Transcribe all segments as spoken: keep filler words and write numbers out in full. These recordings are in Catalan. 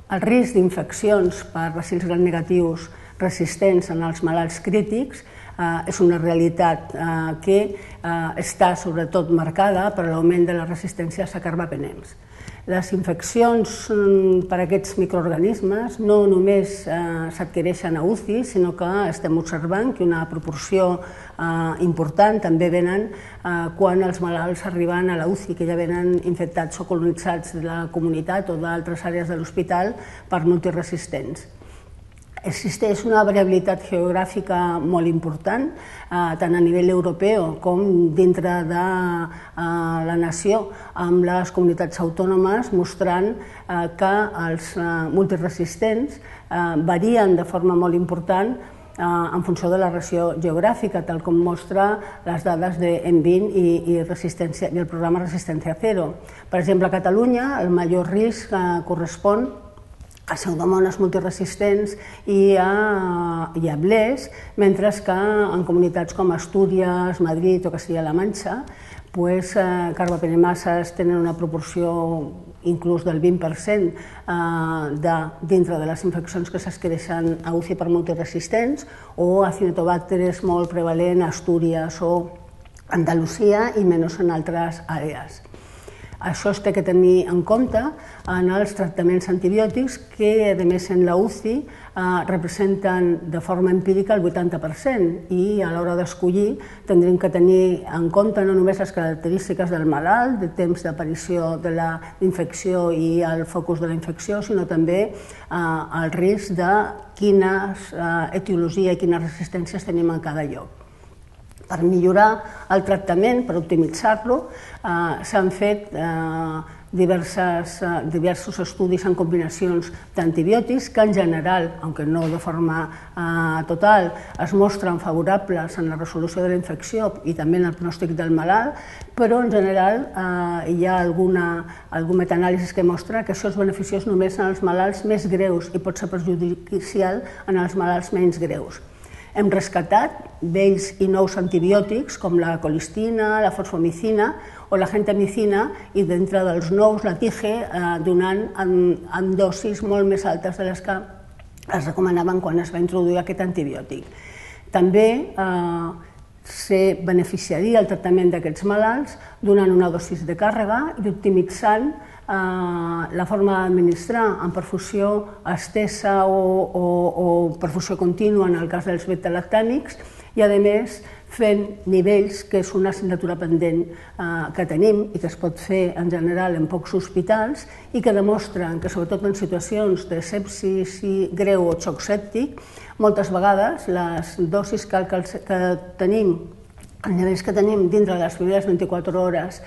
El risc d'infeccions per bacils gram negatius resistents en els malalts crítics és una realitat que està sobretot marcada per l'augment de la resistència a carbapenems. Les infeccions per aquests microorganismes no només s'adquireixen a U C I, sinó que estem observant que una proporció important també venen quan els malalts arriben a la U C I, que ja venen infectats o colonitzats de la comunitat o d'altres àrees de l'hospital per multiresistents. Existeix una variabilitat geogràfica molt important, tant a nivell europeu com dintre de la nació, amb les comunitats autònomes mostrant que els multiresistents varien de forma molt important en funció de la regió geogràfica, tal com mostra les dades de N vint i el programa Resistència Zero. Per exemple, a Catalunya el major risc correspon a pseudomones multiresistents i a blers, mentre que en comunitats com Astúries, Madrid o Castilla-La Manxa, carbapenemases tenen una proporció inclús del vint per cent dintre de les infeccions que s'adquireixen a U C I per multiresistents, o Acinetobacter és molt prevalent a Astúries o Andalusia i menys en altres àrees. Això es té que tenir en compte en els tractaments antibiòtics que, a més, en la U C I representen de forma empírica el vuitanta per cent i a l'hora d'escollir tindrem que tenir en compte no només les característiques del malalt, de temps d'aparició de la infecció i el focus de la infecció, sinó també el risc de quina etiologia i quines resistències tenim en cada lloc. Per millorar el tractament, per optimitzar-lo, s'han fet diversos estudis en combinacions d'antibiòtics que en general, aunque no de forma total, es mostren favorables en la resolució de la infecció i també en el pronòstic del malalt, però en general hi ha algun metanàlisi que mostra que això és beneficiós només en els malalts més greus i pot ser perjudicial en els malalts menys greus. Hem rescatat vells i nous antibiòtics com la colistina, la fosfomicina o la gentamicina i dintre dels nous la tige donant en dosis molt més altes de les que es recomanaven quan es va introduir aquest antibiòtic. També se beneficiaria el tractament d'aquests malalts donant una dosis de càrrega i optimitzant la forma d'administrar en perfusió estesa o perfusió contínua en el cas dels beta-lactàmics i, a més, fent nivells, que és una assignatura pendent que tenim i que es pot fer en general en pocs hospitals i que demostren que, sobretot en situacions de sepsis greu o xoc sèptic, moltes vegades les dosis que tenim, els nivells que tenim dintre de les primeres vint-i-quatre hores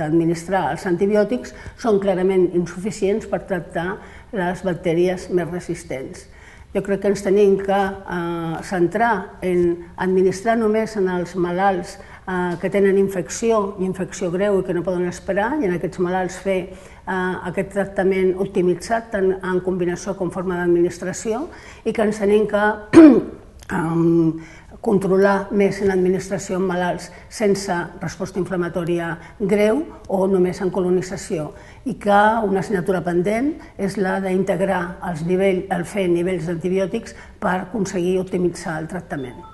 d'administrar els antibiòtics són clarament insuficients per tractar les bactèries més resistents. Jo crec que ens tenim que centrar en administrar només en els malalts que tenen infecció i infecció greu i que no poden esperar, i en aquests malalts fer aquest tractament optimitzat tant en combinació com forma d'administració, i que ens tenim que controlar més en l'administració en malalts sense resposta inflamatòria greu o només en colonització, i que una assignatura pendent és la d'integrar el fer nivells d'antibiòtics per aconseguir optimitzar el tractament.